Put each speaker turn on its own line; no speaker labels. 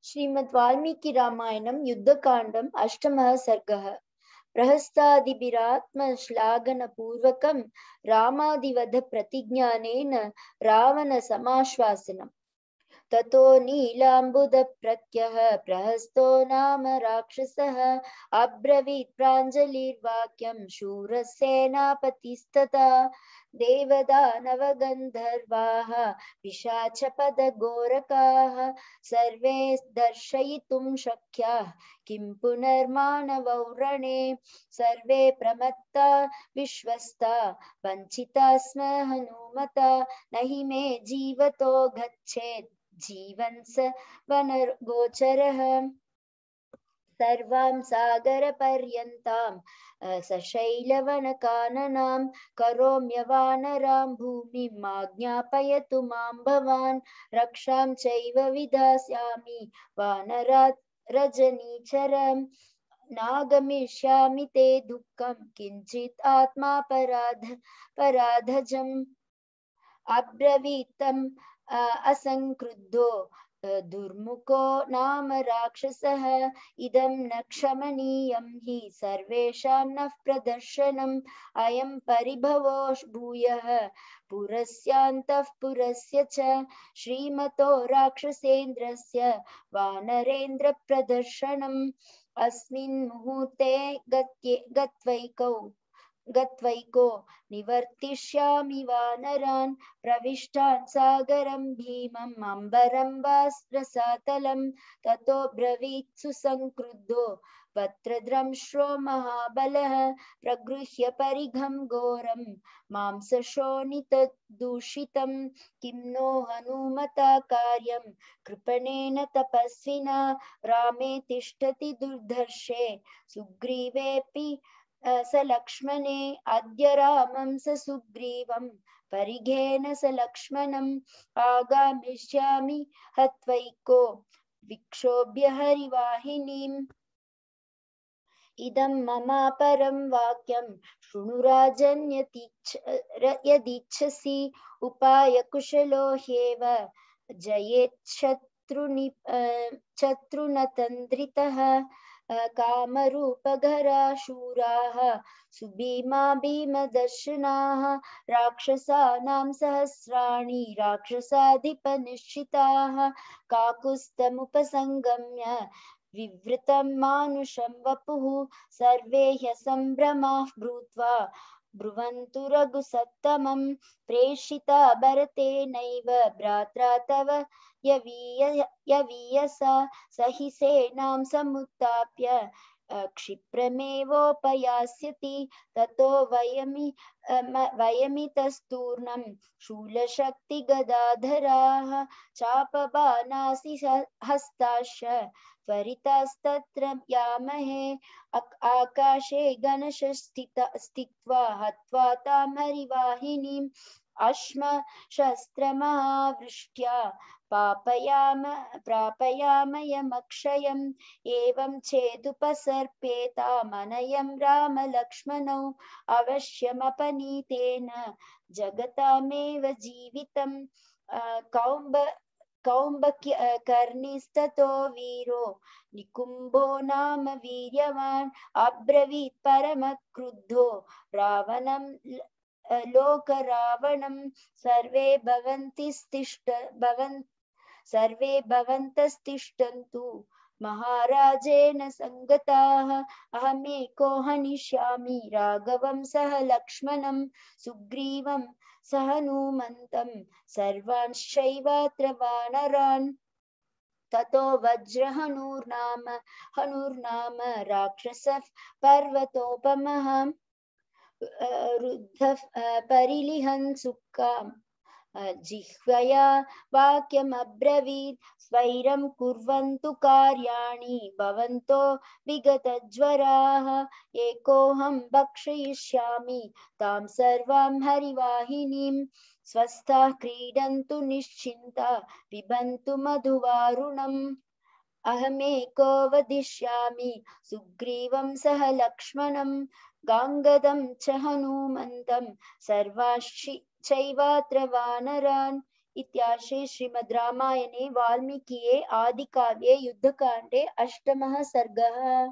श्रीमद् वाल्मीकि रामायणं युद्धकाण्डम् अष्टमः सर्गः। प्रहस्तादिभिरात्मश्लाघनपूर्वकं रामादिवध प्रतिज्ञानेन रावणसमाश्वासनम्। ततो नीलाम्बुदप्रत्यः प्रहस्तो नाम राक्षसः अब्रवीत् प्राञ्जलिर्वाक्यं शूरसेनापतिस्तथा देवदानवगन्धर्वाः पिशाचपदघोरकाः सर्वे दर्शयितुं शक्याः किं पुनर्मानवौ रणे सर्वे प्रमत्ता विश्वस्ता वञ्चिता स्म हनुमता न हि मे जीवतो गच्छेत् जीवन् स वनगोचरः सर्वां सागरपर्यन्तां सशैलवनकाननां करोम्यवानरां भूमिमाज्ञापयतु मां भवान् रक्षां चैव विधास्यामि वानरात् रजनीचरम् नागमिष्यामि ते दुःखं किञ्चित् पराधजम् अब्रवीतम् असंक्रुद्धो दुर्मुखो नाम राक्षसः इदं न क्षमनीयं हि सर्वेषां नः प्रदर्शनम् अयं परिभवो भूयः पुरस्यान्तः पुरस्य च श्रीमतो राक्षसेन्द्रस्य वानरेन्द्र प्रदर्शनम् अस्मिन् मुहूर्ते गत्वैको निवर्तिष्यामि वानरान् प्रविष्टान् सागरं भीमम् अम्बरं वा रसातलं ततो ब्रवीत् सुसंक्रुद्धो वक्त्रद्रंश्रो महाबलः प्रगृह्य परिघं घोरं मांसशोणितदूषितं किं नो हनुमता कार्यं कृपणेन तपस्विना रामे तिष्ठति दुर्धर्षे सुग्रीवेऽपि स लक्ष्मणे अद्य रामं स सुग्रीवं परिघेन स लक्ष्मणम् आगामिष्यामि हत्वैको विक्षोभ्य हरिवाहिनीम् इदं ममापरं वाक्यं शृणु राजन् यदीच्छसि उपायकुशलो ह्येव जयेच्छत्रुनतन्द्रितः कामरूपधरा शूराः सुभीमा भीमदर्शनाः राक्षसानां सहस्राणि राक्षसाधिपनिश्चिताः काकुत्स्थमुपसंगम्य विवृतं मानुषं वपुः सर्वे ह्यसम्भ्रमाः भूत्वा ब्रुवन्तु रघुसत्तमं प्रेषिता भरतेनैव भ्रात्रा तव यवीयसा स हि सेनां समुत्थाप्य क्षिप्रमेवोपयास्यति ततो वयमितस्तूर्णं शूलशक्तिगदाधराः चापबाणासि हस्ताश्च त्वरितास्तत्र यामहे आकाशे गणशस्थित्वा हत्वा तां हरिवाहिनीम् अश्मशस्त्रमहावृष्ट्या प्रापयामयमक्षयम् एवं चेदुपसर्पेतामनयं रामलक्ष्मणौ अवश्यमपनीतेन जगतामेव जीवितम् कौम्बकर्णिस्ततो वीरो निकुम्भो नाम वीर्यवान् अब्रवीत् परमक्रुद्धो रावणं लोकरावणं सर्वे भवन्तस्तिष्ठन्तु महाराजेन संगताः अहमेको हनिष्यामि राघवं सह लक्ष्मणं सुग्रीवं सह हनूमन्तं सर्वांश्चैवात्र वानरान् ततो हनुर्नाम राक्षसः पर्वतोपमः रुद्धः परिलिहन् सुखाम् जिह्वया वाक्यमब्रवीत् स्वैरं कुर्वन्तु कार्याणि भवन्तो विगतज्वराः एकोऽहं भक्षयिष्यामि तां सर्वां हरिवाहिनीं स्वस्थाः क्रीडन्तु निश्चिन्ता पिबन्तु मधुवारुणम् अहमेको वदिष्यामि सुग्रीवं सह लक्ष्मणं गाङ्गदं च हनूमन्तं सर्वाश्चैवात्र वानरान् इत्यार्षे श्रीमद् रामायणे वाल्मीकिये आदिकाव्ये युद्धकाण्डे अष्टमः सर्गः।